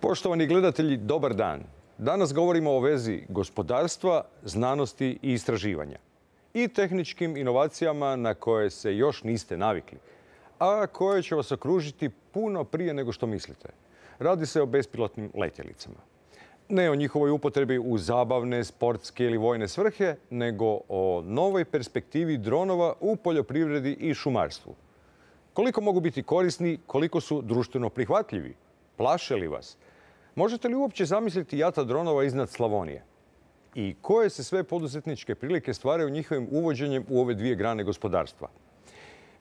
Poštovani gledatelji, dobar dan. Danas govorimo o vezi gospodarstva, znanosti i istraživanja. I tehničkim inovacijama na koje se još niste navikli, a koje će vas okružiti puno prije nego što mislite. Radi se o bespilotnim letjelicama. Ne o njihovoj upotrebi u zabavne, sportske ili vojne svrhe, nego o novoj perspektivi dronova u poljoprivredi i šumarstvu. Koliko mogu biti korisni, koliko su društveno prihvatljivi? Plaše li vas? Možete li uopće zamisliti jata dronova iznad Slavonije? I koje se sve poduzetničke prilike stvaraju njihovim uvođenjem u ove dvije grane gospodarstva?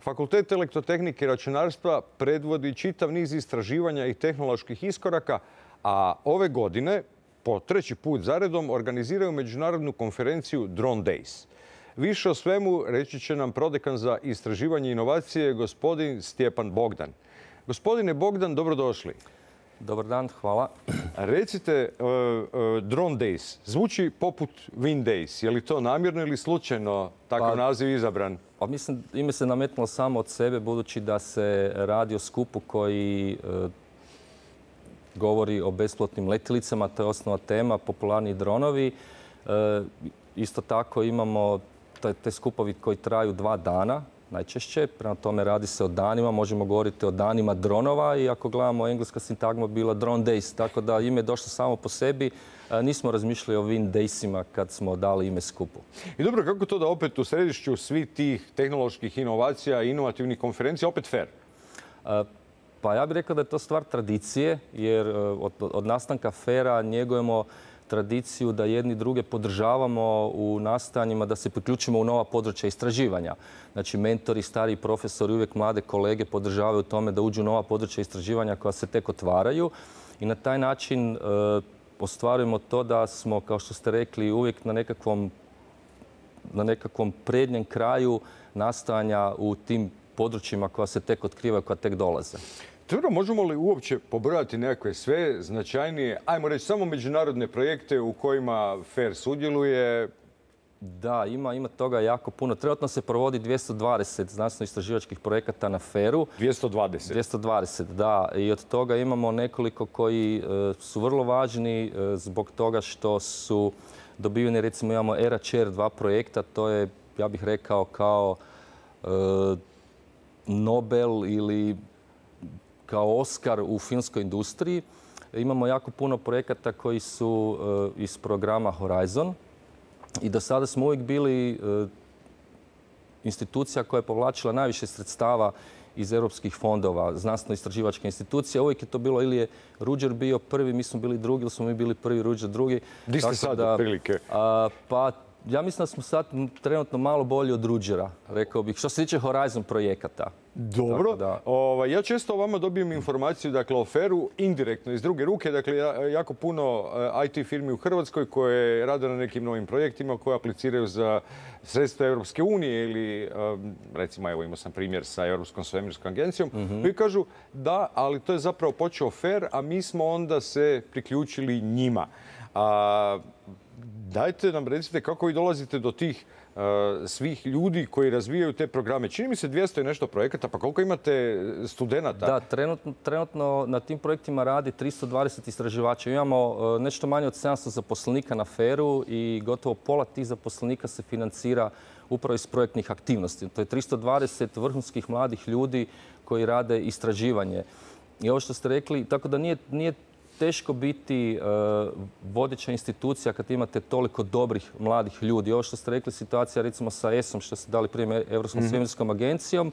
Fakultet elektrotehnike i računarstva predvodi čitav niz istraživanja i tehnoloških iskoraka, a ove godine, po treći put zaredom, organiziraju međunarodnu konferenciju Drone Days. Više o svemu reći će nam prodekan za istraživanje i inovacije, gospodin Stjepan Bogdan. Gospodine Bogdan, dobrodošli. Dobar dan, hvala. Recite, Drone Days zvuči poput Wind Days. Je li to namjerno ili slučajno takav naziv izabran? Pa mislim, ime se nametnulo samo od sebe, budući da se radi o skupu koji govori o bespilotnim letjelicama. To je osnova tema, popularni dronovi. Isto tako imamo te skupovi koji traju 2 dana. Najčešće, prema tome radi se o danima, možemo govoriti o danima dronova i ako gledamo engleska sintagma bila Drone Days, tako da ime je došlo samo po sebi. Nismo razmišljali o Wind Daysima kad smo dali ime skupu. I dobro, kako to da opet u središću svih tih tehnoloških inovacija i inovativnih konferencija opet FAIR? Pa ja bih rekao da je to stvar tradicije, jer od nastanka FAIR-a njegujemo tradiciju da jedni druge podržavamo u nastojanjima da se priključimo u nova područja istraživanja. Znači, mentori, stariji profesori, uvijek mlade kolege podržavaju u tome da uđu u nova područja istraživanja koja se tek otvaraju i na taj način ostvarujemo to da smo, kao što ste rekli, uvijek na nekakvom prednjem kraju nastojanja u tim područjima koja se tek otkrivaju, koja tek dolaze. Dobro, možemo li uopće pobrojati nekakve sve značajnije, ajmo reći, samo međunarodne projekte u kojima FAIR sudjeluje? Da, ima toga jako puno. Trenutno se provodi 220 znanstveno-istraživačkih projekata na FAIR-u. 220? 220, da. I od toga imamo nekoliko koji su vrlo važni zbog toga što su dobiveni, recimo imamo ERA-CHAIR 2 projekta, to je, ja bih rekao, kao Nobel ili kao Oskar u filmskoj industriji. Imamo jako puno projekata koji su iz programa Horizon i do sada smo uvijek bili institucija koja je povlačila najviše sredstava iz europskih fondova, znanstveno-istraživačke institucije. Uvijek je to bilo ili je Ruđer bio prvi, mi smo bili drugi, ili smo mi bili prvi, Ruđer drugi. Gdje ste sad otprilike? Pa ja mislim da smo sad trenutno malo bolji od Ruđera, rekao bih, što se tiče Horizon projekata. Dobro. Ja često o vama dobijem informaciju, dakle, o FAIR-u indirektno iz druge ruke. Dakle, jako puno IT firmi u Hrvatskoj koje rade na nekim novim projektima, koje apliciraju za sredstva Europske unije ili, recimo, evo imao sam primjer sa Europskom svemirskom agencijom, koji kažu da, ali to je zapravo počeo FAIR, a mi smo onda se priključili njima. Dajte nam recite kako vi dolazite do tih svih ljudi koji razvijaju te programe. Čini mi se 200 i nešto projekata, pa koliko imate studenata? Da, trenutno na tim projektima radi 320 istraživača. Imamo nešto manje od 700 zaposlenika na FAIR-u i gotovo pola tih zaposlenika se financira upravo iz projektnih aktivnosti. To je 320 vrhunskih mladih ljudi koji rade istraživanje. I ovo što ste rekli, tako da nije teško biti vodeća institucija kad imate toliko dobrih mladih ljudi. Ovo što ste rekli, situacija recimo sa ESA-om, što ste dali primjer Europskom svemirskom agencijom,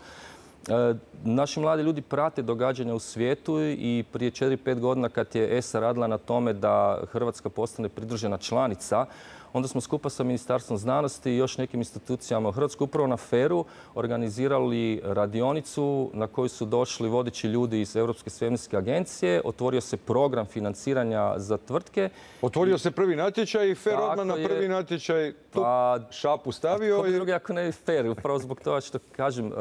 naši mladi ljudi prate događanja u svijetu i prije 4-5 godina kad je ESA radila na tome da Hrvatska postane pridružena članica, onda smo skupa sa Ministarstvom znanosti i još nekim institucijama u Hrvatskoj upravo na FAIR-u organizirali radionicu na koju su došli vodeći ljudi iz Europske svemirske agencije. Otvorio se program financiranja za tvrtke. Otvorio se prvi natječaj i FAIR odmah na prvi natječaj šapu stavio. Ko drugi ako ne FAIR, upravo zbog toga što kažem,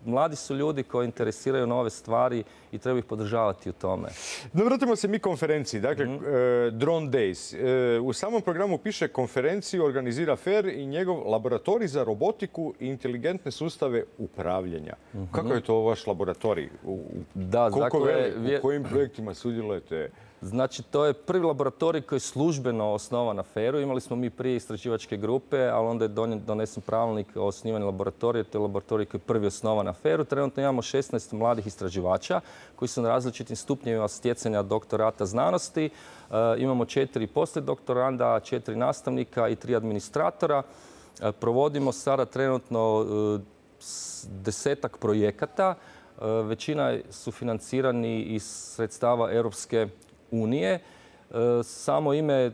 mladi su ljudi koji interesiraju nove stvari i treba ih podržavati u tome. Da vratimo se mi konferenciji, dakle Drone Days. U samom programu piše konferenciju organizira FAIR i njegov laboratorij za robotiku i inteligentne sustave upravljanja. Kako je to vaš laboratorij? U kojim projektima sudjelujete? Znači, to je prvi laboratorij koji je službeno osnovan na FER-u. Imali smo mi prije istraživačke grupe, ali onda je donesen pravilnik o osnivanju laboratorija. To je laboratorij koji je prvi osnovan na FER-u. Trenutno imamo 16 mladih istraživača koji su na različitim stupnjevima stjecanja doktorata znanosti. Imamo 4 poslijedoktoranda, 4 nastavnika i 3 administratora. Provodimo sada trenutno 10-ak projekata. Većina su financirani iz sredstava Europske unije. Samo ime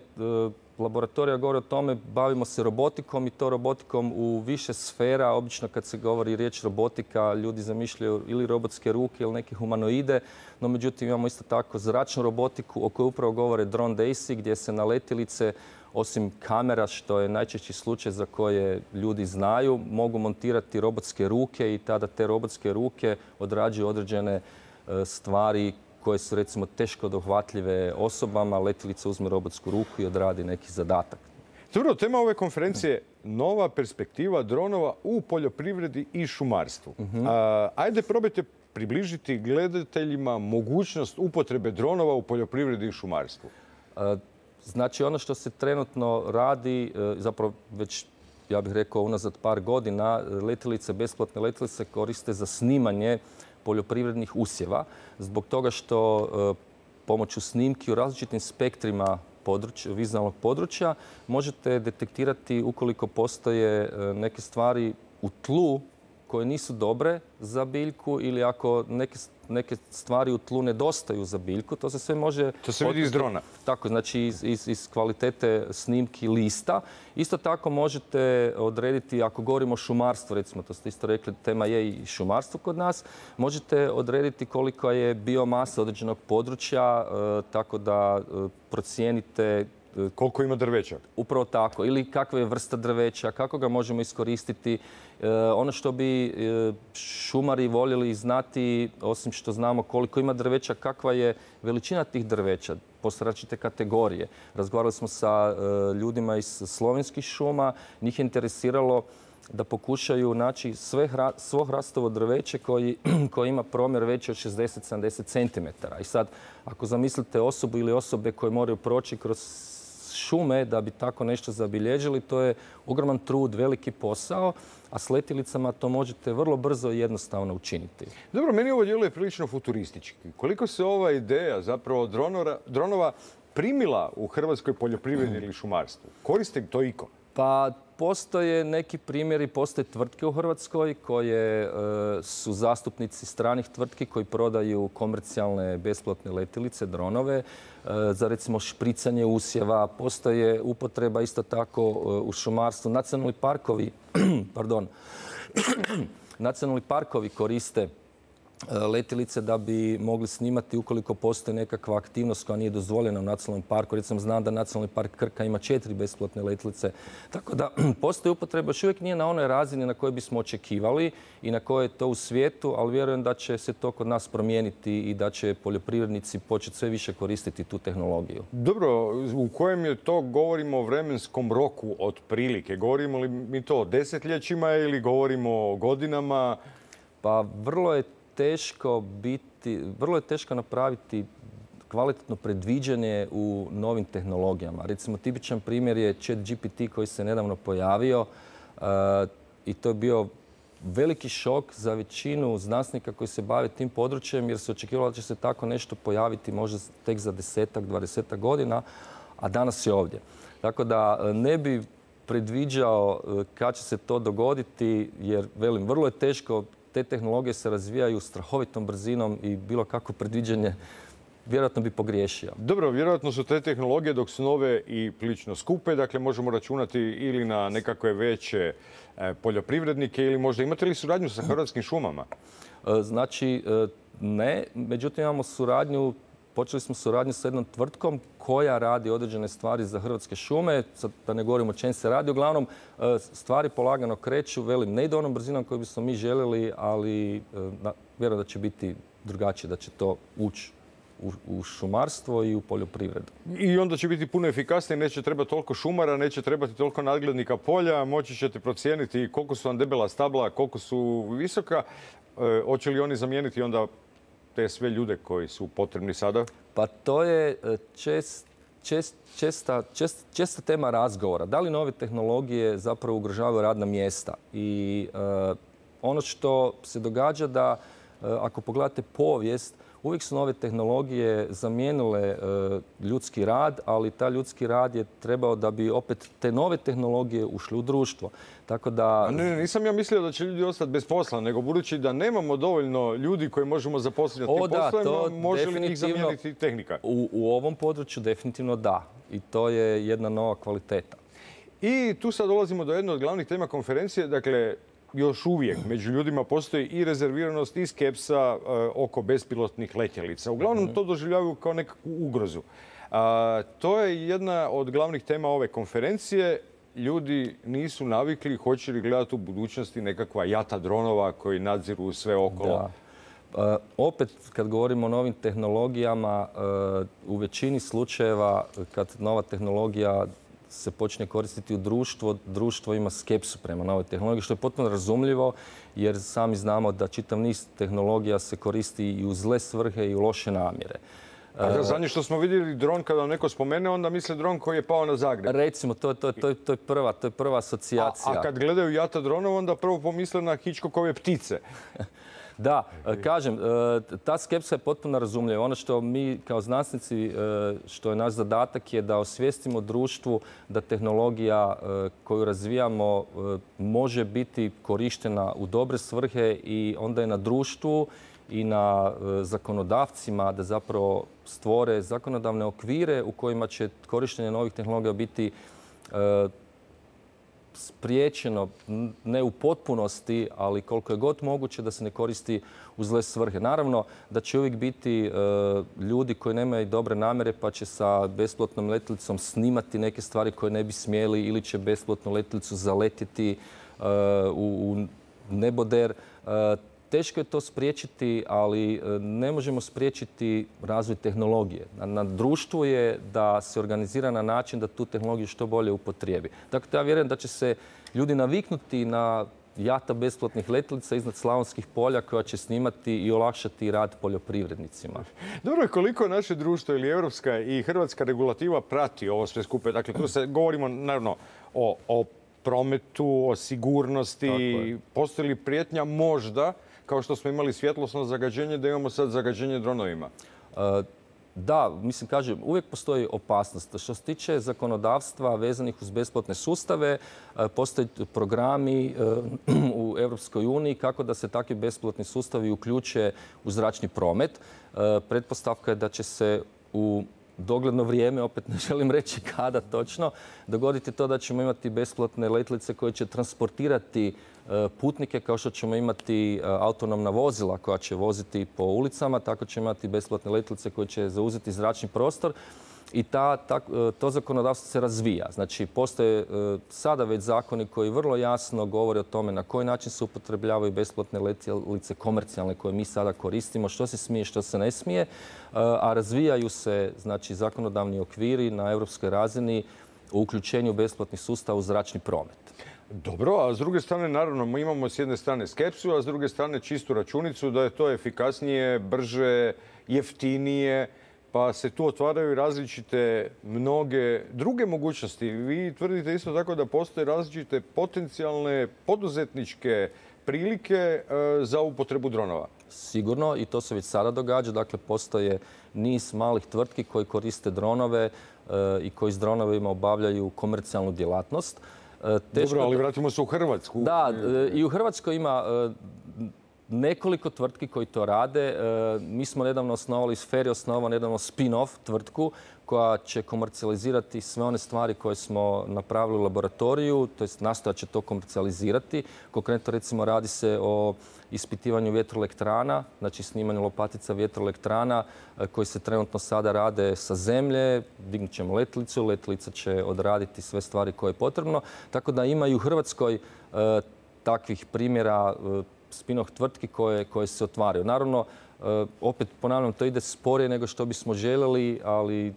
laboratorija govori o tome, bavimo se robotikom i to robotikom u više sfera. Obično kad se govori riječ robotika, ljudi zamišljaju ili robotske ruke ili neke humanoide, no međutim imamo isto tako zračnu robotiku o kojoj upravo govore Drone Daysy, gdje se na letjelice, osim kamera, što je najčešći slučaj za koje ljudi znaju, mogu montirati robotske ruke i tada te robotske ruke odrađuju određene stvari koje su recimo teško dohvatljive osobama. Letjelica uzme robotsku ruku i odradi neki zadatak. Dobro, tema ove konferencije je nova perspektiva dronova u poljoprivredi i šumarstvu. Ajde probajte približiti gledateljima mogućnost upotrebe dronova u poljoprivredi i šumarstvu. Znači, ono što se trenutno radi, zapravo već, ja bih rekao, unazad par godina, letjelice, besplatne letjelice koriste za snimanje poljoprivrednih usjeva, zbog toga što pomoću snimki u različitim spektrima vizualnog područja možete detektirati ukoliko postoje neke stvari u tlu koje nisu dobre za biljku ili ako neke stvari u tlu nedostaju za biljku. To se sve može... To se vidi iz drona. Tako, znači iz kvalitete snimki lista. Isto tako možete odrediti, ako govorimo o šumarstvu, recimo, to ste isto rekli, tema je i šumarstvo kod nas, možete odrediti koliko je biomasa određenog područja, tako da procijenite koliko ima drveća. Upravo tako. Ili kakva je vrsta drveća, kako ga možemo iskoristiti. Ono što bi šumari voljeli znati, osim što znamo koliko ima drveća, kakva je veličina tih drveća, postoje različite kategorije. Razgovarali smo sa ljudima iz slovenskih šuma. Njih je interesiralo da pokušaju naći svo hrastovo drveće koji ima promjer veći od 60-70 cm. I sad, ako zamislite osobu ili osobe koje moraju proći kroz šume da bi tako nešto zabilježili, to je ogroman trud, veliki posao, a s letjelicama to možete vrlo brzo i jednostavno učiniti. Dobro, meni ovo djeluje prilično futuristički. Koliko se ova ideja zapravo dronova primila u hrvatskoj poljoprivredi ili šumarstvu? Koriste to iko? Pa postoje neki primjeri, postoje tvrtke u Hrvatskoj koje su zastupnici stranih tvrtki koji prodaju komercijalne besplatne letjelice, dronove, za recimo špricanje usjeva. Postoje upotreba isto tako u šumarstvu. Nacionalni parkovi koriste letjelice da bi mogli snimati ukoliko postoji nekakva aktivnost koja nije dozvoljena u nacionalnom parku. Recimo, znam da Nacionalni park Krka ima 4 besplatne letjelice. Tako da postoji upotreba, još uvijek nije na onoj razini na kojoj bismo očekivali i na kojoj je to u svijetu, ali vjerujem da će se to kod nas promijeniti i da će poljoprivrednici početi sve više koristiti tu tehnologiju. Dobro, u kojem je to, govorimo o vremenskom roku otprilike? Govorimo li mi to o desetljećima ili govorimo o godinama? Pa vrlo je teško napraviti kvalitetno predviđanje u novim tehnologijama. Recimo, tipičan primjer je ChatGPT koji se nedavno pojavio i to je bio veliki šok za većinu znanstvenika koji se bave tim područjem jer se očekivalo da će se tako nešto pojaviti možda tek za 10-ak, 20-ak godina, a danas je ovdje. Tako da ne bi predviđao kad će se to dogoditi jer, velim, vrlo je teško. Te tehnologije se razvijaju strahovitom brzinom i bilo kako predviđanje vjerojatno bi pogriješio. Dobro, vjerojatno su te tehnologije dok su nove i prilično skupe, dakle možemo računati ili na nekakve veće poljoprivrednike ili možda imate li suradnju sa Hrvatskim šumama? Znači, ne. Međutim, imamo suradnju, počeli smo suradnju sa jednom tvrtkom koja radi određene stvari za Hrvatske šume. Sad da ne govorimo o čem se radi. Uglavnom, stvari polagano kreću. Velim, ne ide onom brzinom koju bismo mi željeli, ali vjerujem da će biti drugačije, da će to ući u šumarstvo i u poljoprivredu. I onda će biti puno efikasnije, neće trebati toliko šumara, neće trebati toliko nadglednika polja, moći ćete procijeniti koliko su vam debela stabla, koliko su visoka. Hoće li oni zamijeniti onda te sve ljude koji su potrebni sada? Pa to je česta tema razgovora. Da li nove tehnologije zapravo ugrožavaju radna mjesta? I ono što se događa da ako pogledate povijest, uvijek su nove tehnologije zamijenile ljudski rad, ali taj ljudski rad je trebao da bi opet te nove tehnologije ušli u društvo. Tako da... Nisam ja mislio da će ljudi ostati bez posla, nego budući da nemamo dovoljno ljudi koje možemo zaposliti na tim poslovima, može li ih zamijeniti tehnika? U ovom području definitivno da. I to je jedna nova kvaliteta. I tu sad dolazimo do jedne od glavnih tema konferencije. Dakle, još uvijek među ljudima postoji i rezerviranost i skepsa oko bespilotnih letjelica. Uglavnom to doživljavaju kao nekakvu ugrozu. To je jedna od glavnih tema ove konferencije. Ljudi nisu navikli, hoće li gledati u budućnosti nekakva jata dronova koji nadziru sve okolo. Da. Opet, kad govorimo o novim tehnologijama, u većini slučajeva kad nova tehnologija se počne koristiti u društvo ima skepsu prema novoj tehnologiji, što je potpuno razumljivo jer sami znamo da čitav niz tehnologija se koristi i u zle svrhe i u loše namjere. Zadnje što smo vidjeli dron, kada vam neko spomene, onda misle dron koji je pao na Zagreb. Recimo, to je prva asocijacija. A kad gledaju jata dronova, onda prvo pomisle na Hitchcockove Ptice. Da, kažem, ta skepsa je potpuno razumljiva. Ono što mi kao znanstvenici, što je naš zadatak je da osvijestimo društvu da tehnologija koju razvijamo može biti korištena u dobre svrhe i onda je na društvu i na zakonodavcima da zapravo stvore zakonodavne okvire u kojima će korištenje novih tehnologija biti spriječeno, ne u potpunosti, ali koliko je god moguće da se ne koristi u zle svrhe. Naravno da će uvijek biti ljudi koji nemaju dobre namjere pa će sa bespilotnom letjelicom snimati neke stvari koje ne bi smjeli ili će bespilotnu letjelicu zaletiti u neboder. Teško je to spriječiti, ali ne možemo spriječiti razvoj tehnologije. Na društvu je da se organizira na način da tu tehnologiju što bolje upotrijebi. Dakle, ja vjerujem da će se ljudi naviknuti na jata bespilotnih letjelica iznad Slavonskih polja koja će snimati i olakšati rad poljoprivrednicima. Dobro, koliko naše društvo ili europska i hrvatska regulativa prati ovo sve skupe? Dakle, tu se govorimo naravno o prometu, o sigurnosti. Postoji li prijetnja možda, kao što smo imali svjetlosno zagađenje, da imamo sad zagađenje dronovima? Da, mislim, kažem, uvijek postoji opasnost. Što se tiče zakonodavstva vezanih uz bespilotne sustave, postoje programi u Europskoj uniji kako da se takvi bespilotni sustavi uključe u zračni promet. Pretpostavka je da će se u dogledno vrijeme, opet ne želim reći kada točno, dogoditi to da ćemo imati bespilotne letjelice koje će transportirati putnike kao što ćemo imati autonomna vozila koja će voziti po ulicama, tako ćemo imati bespilotne letjelice koje će zauzeti zračni prostor i to zakonodavstvo se razvija. Znači, postoje sada već zakoni koji vrlo jasno govore o tome na koji način se upotrebljavaju bespilotne letjelice komercijalne koje mi sada koristimo, što se smije, što se ne smije, a razvijaju se znači, zakonodavni okviri na europskoj razini u uključenju bespilotnih sustava u zračni promet. Dobro, a s druge strane, naravno, mi imamo s jedne strane skepsu, a s druge strane čistu računicu da je to efikasnije, brže, jeftinije, pa se tu otvaraju različite mnoge druge mogućnosti. Vi tvrdite isto tako da postoje različite potencijalne poduzetničke prilike za upotrebu dronova. Sigurno, i to se već sada događa. Dakle, postoje niz malih tvrtki koji koriste dronove i koji s dronovima obavljaju komercijalnu djelatnost. Dobro, ali vratimo se u Hrvatsku. Da, i u Hrvatskoj ima nekoliko tvrtki koji to rade. Mi smo nedavno osnovali, Sfer je osnovao nedavno spin-off tvrtku koja će komercijalizirati sve one stvari koje smo napravili u laboratoriju, to jest nastojat će to komercijalizirati. Konkretno, recimo, radi se o ispitivanju vjetroelektrana, znači snimanju lopatica vjetroelektrana koji se trenutno sada rade sa zemlje. Dignut ćemo letjelicu, letjelica će odraditi sve stvari koje je potrebno. Tako da ima i u Hrvatskoj takvih primjera spin-off tvrtki koje se otvaraju. Naravno, opet ponavljam, to ide sporije nego što bismo željeli, ali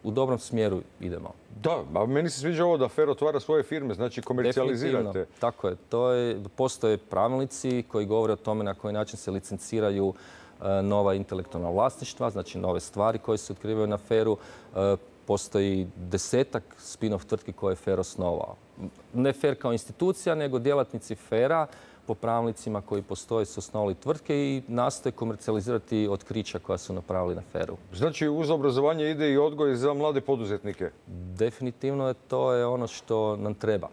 u dobrom smjeru idemo. Da, a meni se sviđa ovo da FER otvara svoje firme, znači komercijalizirate. Tako je. Postoje pravilnici koji govore o tome na koji način se licenciraju nova intelektualna vlasništva, znači nove stvari koje se otkrivaju na FER-u. Postoji 10-ak spin-off tvrtki koje je FER osnovao. Ne FER kao institucija, nego djelatnici FER-a po pravilnicima koji postoje su osnovali tvrtke i nastoje komercijalizirati otkrića koja su napravili na FER-u. Znači uz obrazovanje ide i odgoj za mlade poduzetnike? Definitivno to je ono što nam treba.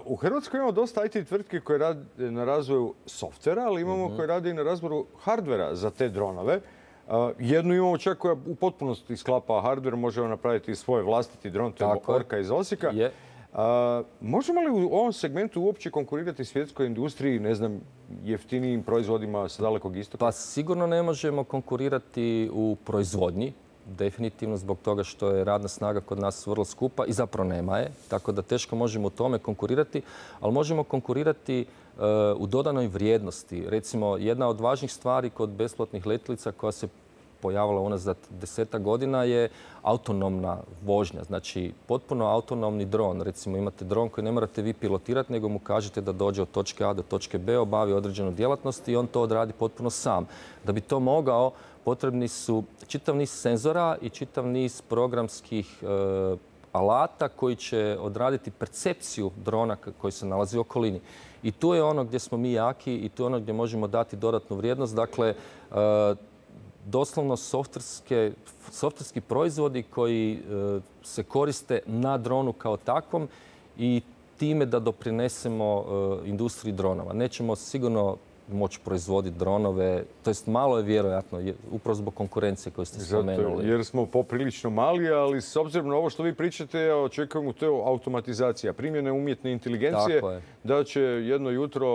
U Hrvatskoj imamo dosta IT tvrtki koje rade na razvoju softvera, ali imamo koje rade i na razvoju hardvera za te dronove. Jednu imamo čak koja u potpunosti sklapa hardver, možemo napraviti svoj vlastiti dron, to je Orka iz Osijeka. Možemo li u ovom segmentu uopće konkurirati svjetskoj industriji, ne znam, jeftinijim proizvodima sa Dalekog istoka? Pa sigurno ne možemo konkurirati u proizvodnji, definitivno zbog toga što je radna snaga kod nas vrlo skupa i zapravo nema je, tako da teško možemo u tome konkurirati, ali možemo konkurirati u dodanoj vrijednosti. Recimo, jedna od važnih stvari kod besplatnih letjelica koja se pojavila unazad 10 godina je autonomna vožnja. Znači, potpuno autonomni dron. Recimo, imate dron koji ne morate vi pilotirati, nego mu kažete da dođe od točke A do točke B, obavi određenu djelatnost i on to odradi potpuno sam. Da bi to mogao, potrebni su čitav niz senzora i čitav niz programskih alata koji će odraditi percepciju drona koji se nalazi u okolini. I tu je ono gdje smo mi jaki i tu je ono gdje možemo dati dodatnu vrijednost. Dakle, doslovno softverski proizvodi koji se koriste na dronu kao takvom i time da doprinesemo industriji dronova. Nećemo sigurno moći proizvoditi dronove, to jest malo je vjerojatno, upravo zbog konkurencije koju ste spomenuli. Zato jer smo poprilično mali, ali s obzirom na ovo što vi pričate, očekujemo to automatizacija, primjene umjetne inteligencije, da će jedno jutro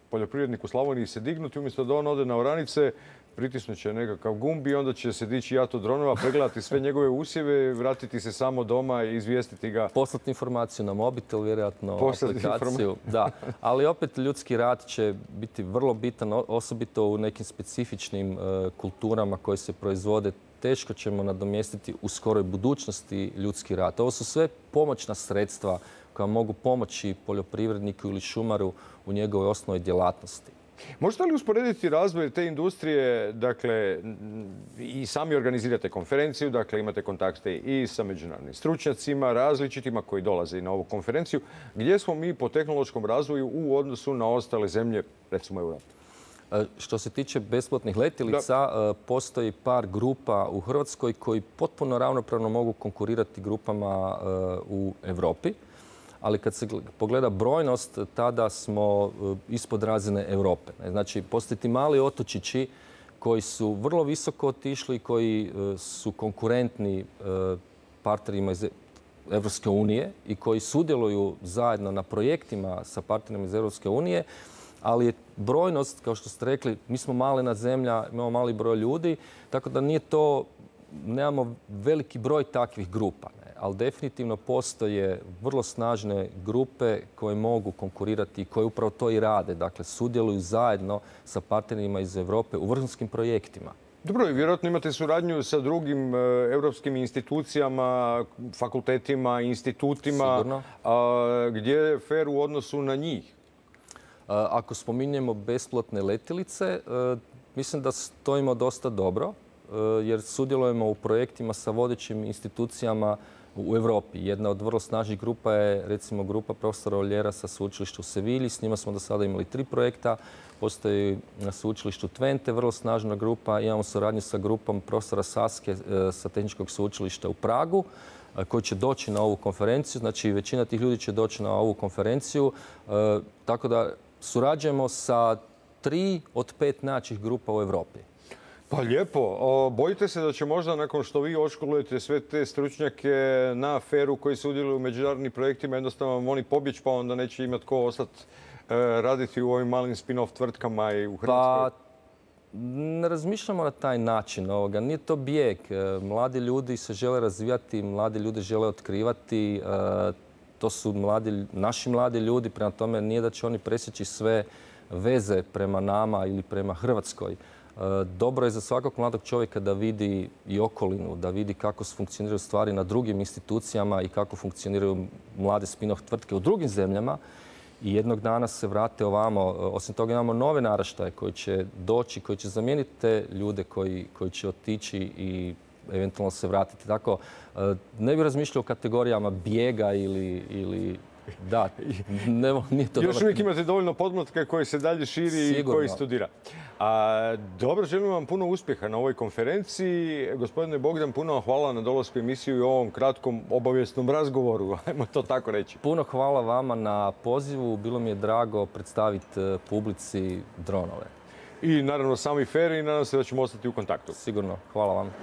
poljoprivrednik u Slavoniji se dignuti, umjesto da on ode na oranice, pritisnut će nekakav gumb i onda će se dići jato dronova, pregledati sve njegove usjeve, vratiti se samo doma i izvijestiti ga. Poslati informaciju na mobitel, vjerojatno aplikaciju. Da, ali opet ljudski rad će biti vrlo bitan, osobito u nekim specifičnim kulturama koje se proizvode. Teško ćemo nadomjestiti u skoroj budućnosti ljudski rad. Ovo su sve pomoćna sredstva koja mogu pomoći poljoprivredniku ili šumaru u njegovoj osnovnoj djelatnosti. Možete li usporediti razvoj te industrije, dakle, i sami organizirate konferenciju, dakle, imate kontakte i sa međunarodnim stručnjacima, različitima koji dolaze i na ovu konferenciju. Gdje smo mi po tehnološkom razvoju u odnosu na ostale zemlje, recimo Europe? Što se tiče besplatnih letjelica, postoji par grupa u Hrvatskoj koji potpuno ravnopravno mogu konkurirati grupama u Europi. Ali kad se pogleda brojnost, tada smo ispod razine Europe. Znači, postoje ti mali otočići koji su vrlo visoko otišli, koji su konkurentni partnerima iz Evropske unije i koji sudjeluju zajedno na projektima sa partnerima iz Evropske unije, ali je brojnost, kao što ste rekli, mi smo malena zemlja, imamo mali broj ljudi, tako da nemamo veliki broj takvih grupa. Ali definitivno postoje vrlo snažne grupe koje mogu konkurirati i koje upravo to i rade. Dakle, sudjeluju zajedno sa partnerima iz Europe u vrhunskim projektima. Dobro, i vjerojatno imate suradnju sa drugim europskim institucijama, fakultetima, institutima. Sigurno. Gdje je FER u odnosu na njih? Ako spominjemo besplatne letjelice, mislim da stojimo dosta dobro, jer sudjelujemo u projektima sa vodećim institucijama u Europi. Jedna od vrlo snažnih grupa je recimo grupa profesora Oljera sa sveučilišta u Sevilji. S njima smo do sada imali 3 projekta. Postoji na sveučilištu Twente vrlo snažna grupa. Imamo suradnju sa grupom profesora Saske sa Tehničkog sveučilišta u Pragu koji će doći na ovu konferenciju. Znači, većina tih ljudi će doći na ovu konferenciju. Tako da surađujemo sa 3 od 5 najjačih grupa u Europi. Pa lijepo. Bojite se da će možda nakon što vi odškolujete sve te stručnjake na FER-u koji sudjeluju u međunarodnim projektima, jednostavno oni pobjeći pa onda neće imati ko ostati raditi u ovim malim spin-off tvrtkama i u Hrvatskoj? Pa ne razmišljamo na taj način. Nije to bijeg. Mladi ljudi se žele razvijati, mladi ljudi žele otkrivati. To su naši mladi ljudi, prema tome nije da će oni presjeći sve veze prema nama ili prema Hrvatskoj. Dobro je za svakog mladog čovjeka da vidi i okolinu, da vidi kako funkcioniraju stvari na drugim institucijama i kako funkcioniraju mlade spin-off tvrtke u drugim zemljama. i jednog dana se vrate ovamo. Osim toga imamo nove naraštaje koji će doći, koji će zamijeniti te ljude koji će otići i eventualno se vratiti. Tako, ne bih razmišljao o kategorijama bijega ili da, nije to Još uvijek imate dovoljno podmlatka koji se dalje širi i koji studira. Dobro, želim vam puno uspjeha na ovoj konferenciji. Gospodine Bogdan, puno vam hvala na dolasku u emisiju i ovom kratkom obavijesnom razgovoru, ajmo to tako reći. Puno hvala vama na pozivu. Bilo mi je drago predstaviti publici dronove. I naravno sami FER i nadam se da ćemo ostati u kontaktu. Sigurno. Hvala vam.